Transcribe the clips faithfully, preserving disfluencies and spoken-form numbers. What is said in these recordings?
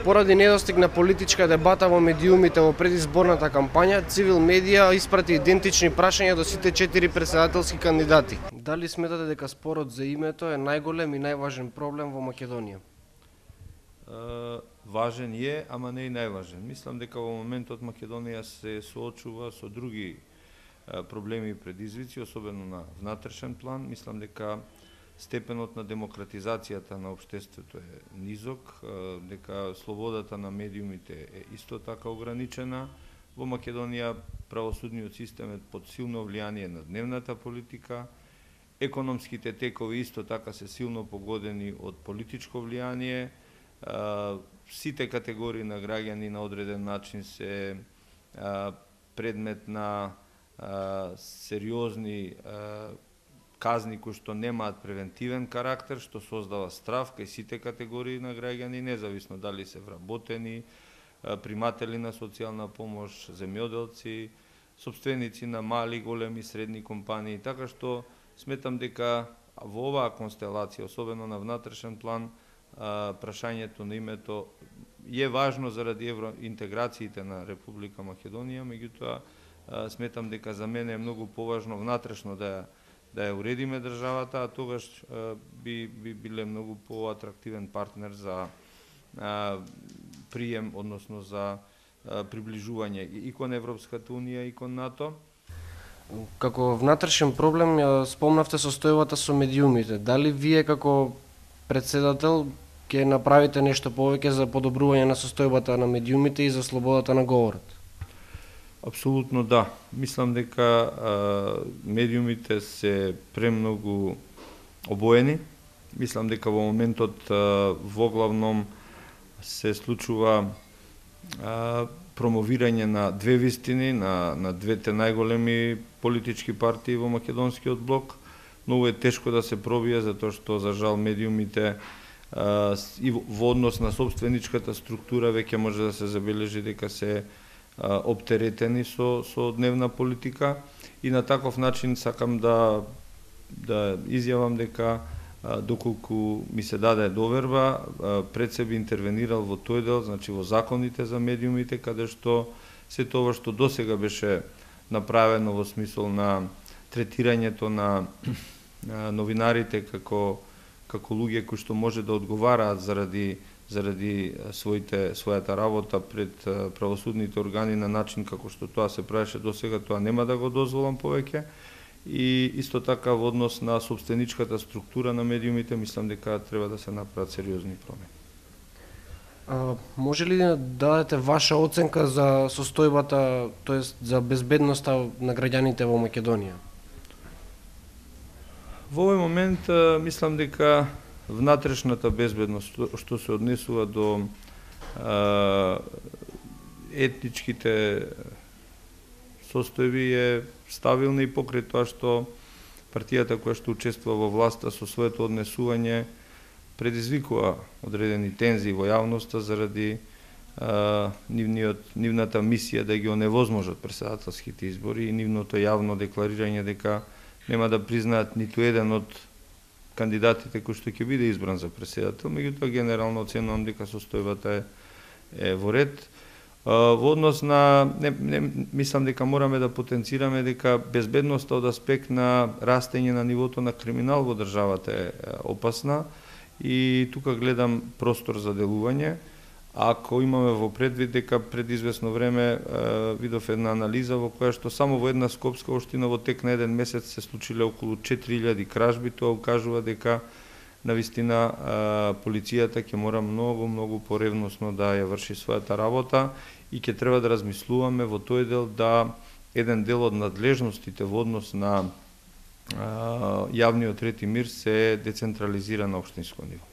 Поради недостиг на политичка дебата во медиумите во предизборната кампања, Цивил медија испрати идентични прашања до сите четири претседателски кандидати. Дали сметате дека спорот за името е најголем и најважен проблем во Македонија? Uh, важен е, ама не и најважен. Мислам дека во моментот Македонија се соочува со други uh, проблеми и предизвици, особено на внатрешен план. Мислам дека степенот на демократизацијата на општеството е низок, дека слободата на медиумите е исто така ограничена. Во Македонија правосудниот систем е под силно влијание на дневната политика, економските текови исто така се силно погодени од политичко влијание, сите категории на граѓани на одреден начин се предмет на сериозни казни кои што немаат превентивен карактер, што создава страв кај сите категории на граѓани, независно дали се вработени, приматели на социјална помош, земјоделци, сопственици на мали, големи, средни компании, така што сметам дека во оваа констелација, особено на внатрешен план, прашањето на името е важно заради евроинтеграциите на Република Македонија, меѓутоа сметам дека за мене е многу поважно внатрешно да ја да ја уредиме државата, а тогаш би, би биле многу поатрактивен партнер за а, прием, односно за а, приближување и кон Европската Унија и кон НАТО. Како внатрешен проблем ја спомнавте состојбата со медиумите. Дали вие како председател ќе направите нешто повеќе за подобрување на состојбата на медиумите и за слободата на говорот? Апсолутно да. Мислам дека а, медиумите се премногу обоени. Мислам дека во моментот а, воглавном се случува а, промовирање на две вистини, на, на двете најголеми политички партии во македонскиот блок. Многу е тешко да се пробие, затоа што за жал медиумите а, и во однос на собственичката структура веќе може да се забележи дека се оптеретени со со дневна политика и на таков начин сакам да да изјавам дека доколку ми се даде доверба, пред себе интервенирал во тој дел, значи во законите за медиумите, каде што се тоа што досега беше направено во смисол на третирањето на новинарите како како луѓе кои што може да одговараат заради заради своите својата работа пред правосудните органи на начин како што тоа се правеше досега, тоа нема да го дозволам повеќе. И исто така во однос на собственичката структура на медиумите, мислам дека треба да се направат сериозни промени. А, може ли да дадете ваша оценка за состојбата, тоест за безбедноста на граѓаните во Македонија? Во овој момент мислам дека внатрешната безбедност што се однесува до а, етничките состојби е стабилна и покрај тоа што партијата која што учествува во власта со своето однесување предизвикува одредени тензии во јавноста заради а, нивниот, нивната мисија да ги оневозможат претседателските избори и нивното јавно декларирање дека нема да признаат ниту еден од кандидатите кои што ќе биде избран за претседател, меѓутоа генерално оценувам дека состојбата е, е во ред. Во однос на, не, не, мислам дека мораме да потенцираме дека безбедноста од аспект на растење на нивото на криминал во државата е опасна и тука гледам простор за делување. Ако имаме во предвид дека пред известно време видов една анализа во која што само во една скопска општина во тек на еден месец се случиле околу четири илјади кражби, тоа укажува дека навистина полицијата ќе мора многу, многу поревносно да ја врши својата работа и ќе треба да размислуваме во тој дел да еден дел од надлежностите во однос на јавниот ред и мир се децентрализира на општинско ниво.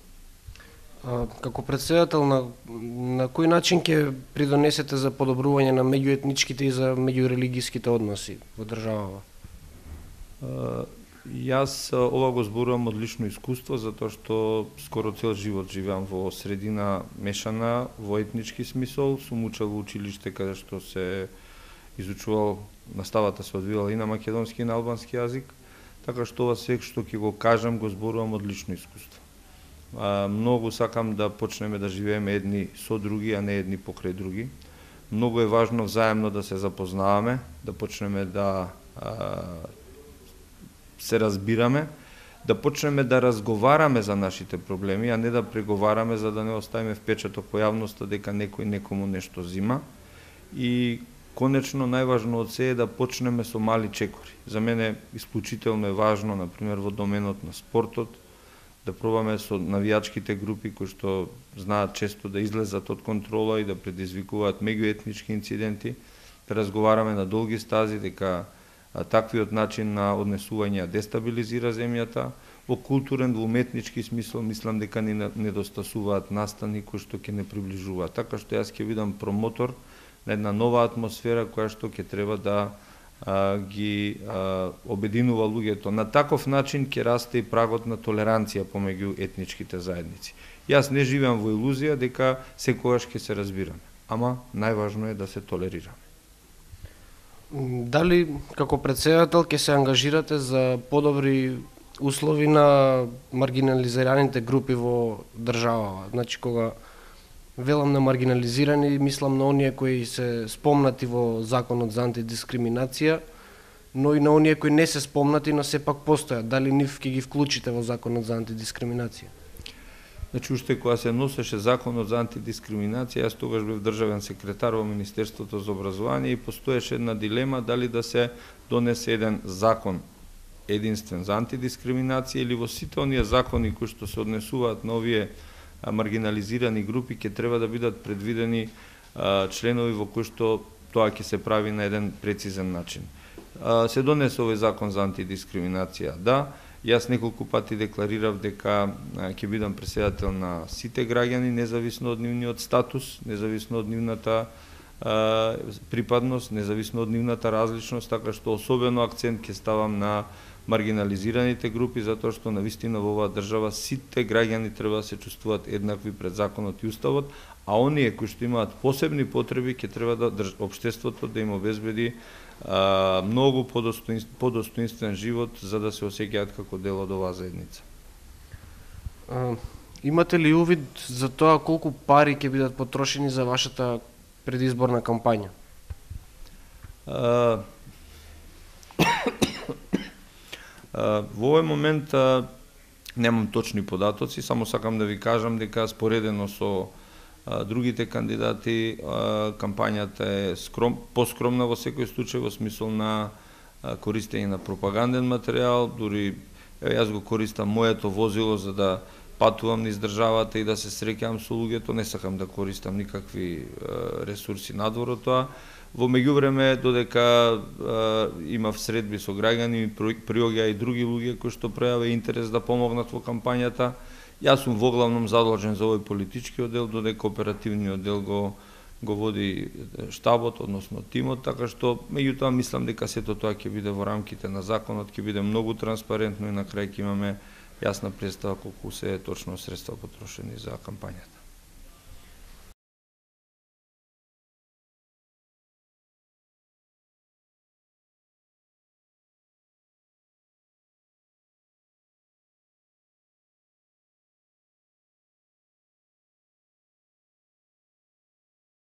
Како председател, на, на кој начин ќе придонесете за подобрување на меѓуетничките и за меѓурелигиските односи во државава? Јас ова го зборувам од лично искуство, затоа што скоро цел живот живеам во средина мешана, во етнички смисол. Сум учел во училиште каде што се изучувал, наставата се одвивала и на македонски и на албански јазик, така што ова све што ќе го кажам го зборувам од лично искуство. А, многу сакам да почнеме да живееме едни со други, а не едни покрај други. Многу е важно взаемно да се запознаваме, да почнеме да а, се разбираме, да почнеме да разговараме за нашите проблеми, а не да преговараме за да не оставиме впечаток по јавноста дека некој некому нешто зима. И конечно најважно од се е да почнеме со мали чекори. За мене исклучително е важно, например во доменот на спортот, да пробаме со навијачките групи кои што знаат често да излезат од контрола и да предизвикуваат меѓуетнички инциденти, да разговараме на долги стази дека а, таквиот начин на однесување дестабилизира земјата. Во културен, во уметнички смисол мислам дека ни недостасуваат настани кои што ќе не приближуваат. Така што јас ќе бидам промотор на една нова атмосфера која што ќе треба да а, ги а, обединува луѓето. На таков начин ќе расте и прагот на толеранција помеѓу етничките заедници. Јас не живеам во илузија дека секогаш ќе се разбираме, ама најважно е да се толерираме. Дали како претседател ќе се ангажирате за подобри услови на маргинализираните групи во државава? Значи, кога велам на маргинализирани, мислам на оние кои се спомнати во Законот за антидискриминација, но и на оние кои не се спомнати, но сепак постојат. Дали нив ќе ги вклучите во Законот за антидискриминација? Значи, уште кога се носеше Законот за антидискриминација, јас тогаш бев државен секретар во Министерството за образование и постоеше една дилема дали да се донесе еден закон единствен за антидискриминација или во сите оние закони кои што се однесуваат на овие маргинализирани групи ќе треба да бидат предвидени а, членови во кои што тоа ќе се прави на еден прецизен начин. А, се донесе овој закон за антидискриминација, да. Јас неколку пати декларирав дека ќе бидам претседател на сите граѓани, независно од нивниот статус, независно од нивната а, припадност, независно од нивната различност, така што особено акцент ќе ставам на маргинализираните групи, затоа што навистина во оваа држава сите граѓани треба да се чувствуваат еднакви пред законот и уставот, а оние кои што имаат посебни потреби ќе треба да држ... општеството да им обезбеди а, многу подостоинствен, подостоинствен живот за да се осеќаат како дел од оваа заедница. А, имате ли увид за тоа колку пари ќе бидат потрошени за вашата предизборна кампања? А, Во овој момент а, немам точни податоци, само сакам да ви кажам дека споредено со а, другите кандидати а, кампањата е скром, поскромна во секој случај во смисол на а, користење на пропаганден материјал, дури е, јас го користам моето возило за да патувам низ државата и да се среќавам со луѓето, не сакам да користам никакви а, ресурси надвор од тоа. Во меѓувреме, додека а, имав средби со граѓани, приоѓаа и други луѓе кои што пројавија интерес да помогнат во кампањата. Јас сум воглавном задолжен за овој политички оддел, додека оперативниот дел го, го води штабот, односно тимот, така што меѓутоа мислам дека сето тоа ќе биде во рамките на законот, ќе биде многу транспарентно и на крај ќе имаме јасна представа колку се точно средства потрошени за кампањата.